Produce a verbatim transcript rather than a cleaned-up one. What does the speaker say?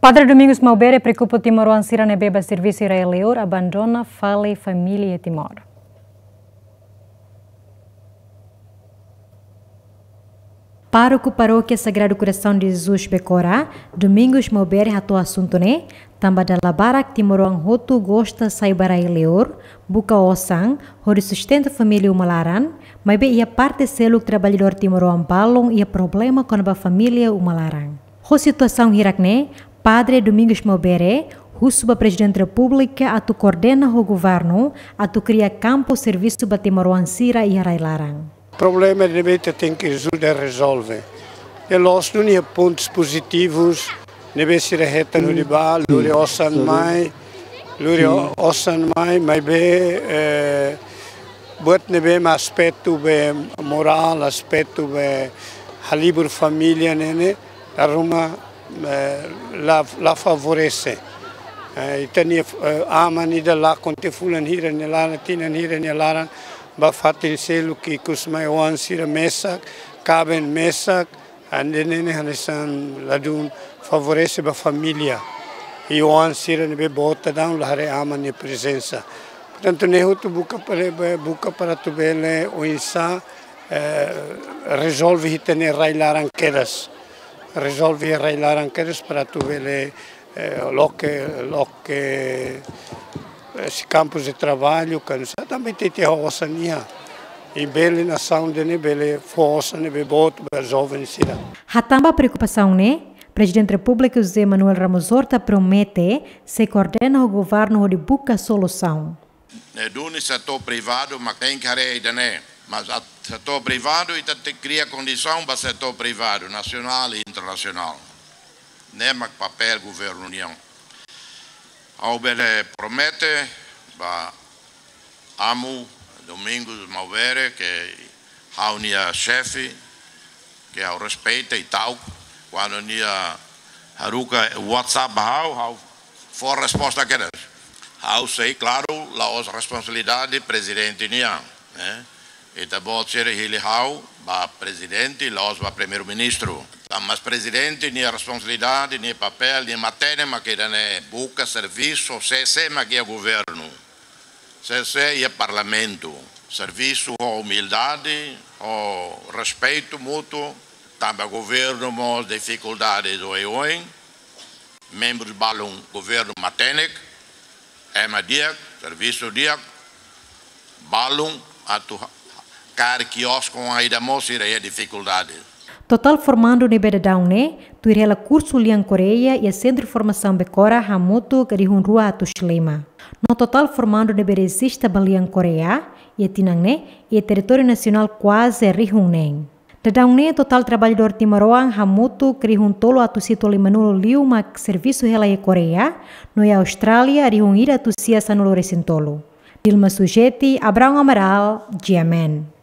Padre Domingos Maubere preokupa timoroan sira ne'ebé bá servisu iha rai-liur, abandona fali família iha Timor. Pároku Parókia Sagrado Coração de Jesus Becora, Domingos Maubere hato'o asuntu ne'e, tanba dala barak timoroan hotu gosta sai ba rai-liur, buka osan, hodi sustenta família uma laran, maibé iha parte seluk traballadór timoroan balun iha problema kona-ba família uma laran. Ho situasaun hirak ne'e, Padre Domingos Maubere husu ba Prezidente Repúblika atu koordena ho governu atu kria kampu servisu ba timoroan sira iha rai-laran. Problema ne'ebé ita tenke ajuda rezolve. E la'ós duni iha pontus pozitivus ne'ebé sira hetan hodi bá, lori osan mai, lori o-, osan mai, maibé, eh, buat ne'ebé mak aspetu be morál, aspetu be halibur família ne'e, ne'e, la ruma, eh, la, la favorese. Eh, ita-nia, eh, aman ida lakon tiha fulan hira nia laran, tinan hira nia laran, bá fatin seluk ikus mai oan sira mesak, kaben mesak, ida-ne'e ne'e hanesan ladún favorese ba família. I oan sira ne'ebé vota daudaun la haree aman nia prezensa. Portantu, ne'e hotu buka para, buka para atu bele oinsá, eh, rezolve ita-nia rai-laran kedas. Rezolve rai-laran kedas para atu bele, eh, loke, loke, eh, sei kampus de traballu, kan sa tanba ita iha osan iha. I bele nasaun ida-ne'e bele fó osan ne'ebé boot ba joven sira. Hatán ba preokupasaun ne'e, Prezidente Repúblika José Manuel Ramos Horta promete sei koordena ho governu hodi buka solusaun. Ne'e duni setór privadu mak tenke haree ida-ne'e. Mas setór privadu ita tenke kria kondisaun ba setór privadu, nasionál i internasionál. Ne'e mak papél governu nian. Ha'u bele promete ba Amu Domingos Maubere, ke ha'u-nia xefe, ke ha'u respeita i ta'uk, kuandu nia haruka WhatsApp ba ha'u, ha'u fó resposta kedas. Ha'u sei, klaru, la'ós responsabilidade prezidente nian, eh? Ita-boot sira hili ha'u ba prezidente, la'ós ba primeiru-ministru. Mas prezidente nia responsabilidade, nia papél, nia matenek mak ida-ne'e, buka servisu, sé, sé mak iha governu, sé, sé iha parlamentu. Servisu ho umildade, ho respeitu mútuu, tanba governu mós difikuldade oioin, membru balun governu matenek, ema di'ak, servisu di'ak, balun atu ha-, kaer kiosku ida mós sira iha difikuldade. Totál formandu ne'ebé daudaun ne'e tuir hela kursu lian Koreia iha Sentru Formasaun Becora hamutuk rihun rua atus lima. No totál formandu ne'ebé rezista ba lian Koreia iha tinan ne'e iha territóriu nasionál kuaze rihun neen. Daudaun ne'e totál traballadór timoroan hamutuk rihun tolu atus hitu limanulu liu mak servisu hela iha Koreia, no iha Austrália rihun ida atus sia sanulu resin tolu. Dilma Sujeti, Abraão Amaral, G M N.